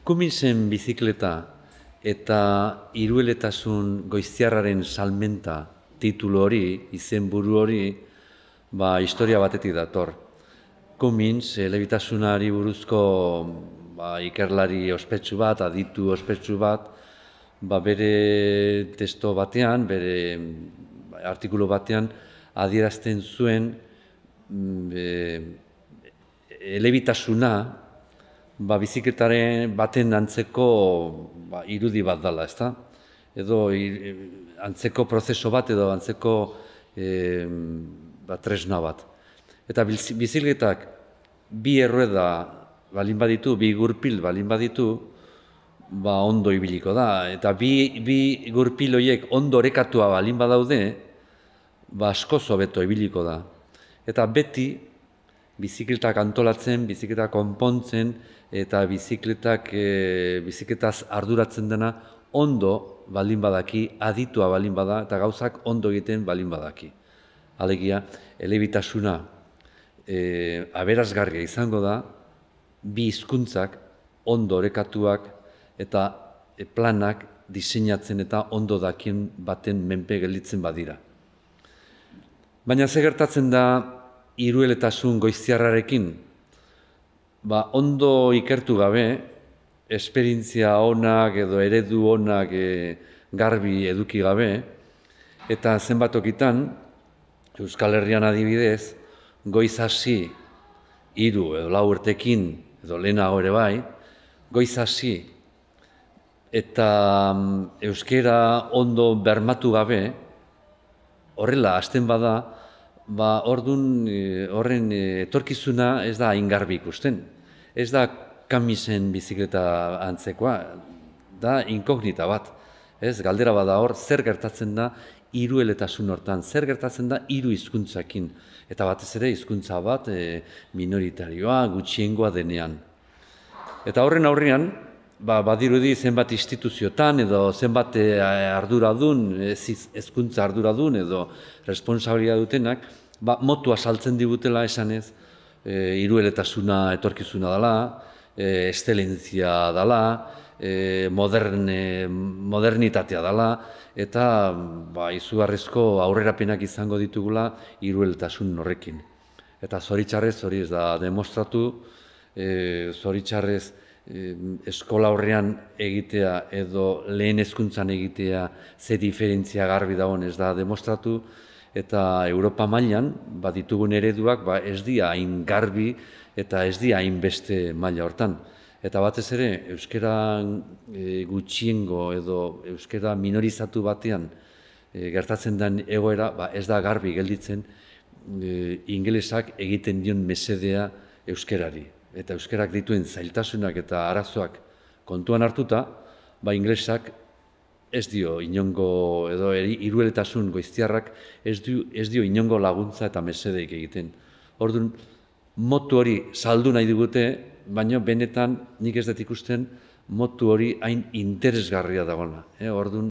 Cummingsen bizikleta eta hirueletasun goiztiarraren salmenta titulu hori, izenburu hori, historia batetik dator. Cummings, elebitasunari buruzko ikerlari ospetsu bat, aditu ospetsu bat, bere testo batean, bere artikulu batean, adierazten zuen elebitasuna bizikletaren baten antzeko irudi bat dela, ezta? Edo antzeko prozeso bat edo antzeko tresna bat. Eta bizikletak bi errueda balin baditu, bi gurpil balin baditu, ondo ibiliko da. Eta bi gurpil horiek ondo orekatua balin badaude, askoz hobeto ibiliko da. Eta beti bizikletak antolatzen, bizikletak konpontzen, eta bizikletaz arduratzen dena ondo balin badaki, aditua balin bada, eta gauzak ondo egiten balin badaki. Alegia, elebitasuna aberasgarria izango da, bi hizkuntzak ondo orekatuak eta planak diseinatzen eta ondo dakien baten menpe gelditzen badira. Baina ze gertatzen da hirueletasun goiztiarrarekin? Ondo ikertu gabe, esperientzia onak edo eredu onak garbi eduki gabe, eta zenbat tokitan, Euskal Herrian adibidez, goiz hasi 3 edo 4 urtekin, edo lehenago ere bai, goiz hasi eta euskera ondo bermatu gabe, horrela hasten bada, horren etorkizuna ez da hain garbi ikusten. Ez da Cummingsen bizikleta antzekoa, da inkognita bat. Galdera bada hor, zer gertatzen da hirueletasun hortan, zer gertatzen da 3 hizkuntzakin. Eta batez ere hizkuntza bat minoritarioa, gutxiengoa denean. Eta horren aurrean, badirudi zenbat instituziotan edo zenbat arduradun, hezkuntza arduradun edo responsabilitatea dutenak, motua saltzen digutela esanez, hirueletasuna etorkizuna dela, eszelentzia dela, modernitatea dela, eta izugarrizko aurrerapenak izango ditugula hirueletasun horrekin. Eta zoritxarrez hori ez da demostratu, zoritxarrez eskola horrean egitea edo lehen hezkuntzan egitea ze diferentzia garbi dagoen ez da demostratu, eta Europa mailan ditugun ereduak ez dira hain garbi eta ez dira hain beste maila hortan. Eta batez ere, euskara gutxiengo edo euskara minorizatu batean gertatzen den egoera ez da garbi gelditzen ingelesak egiten dion mesedea euskarari. Eta euskarak dituen zailtasunak eta arazoak kontuan hartuta, ingelesak ez dio inongo, edo hirueletasun goiztiarrak ez dio inongo laguntza eta mesedeik egiten. Orduan, motu hori saldu nahi digute, baina benetan nik ez dut ikusten motu hori hain interesgarria dagoena. Orduan,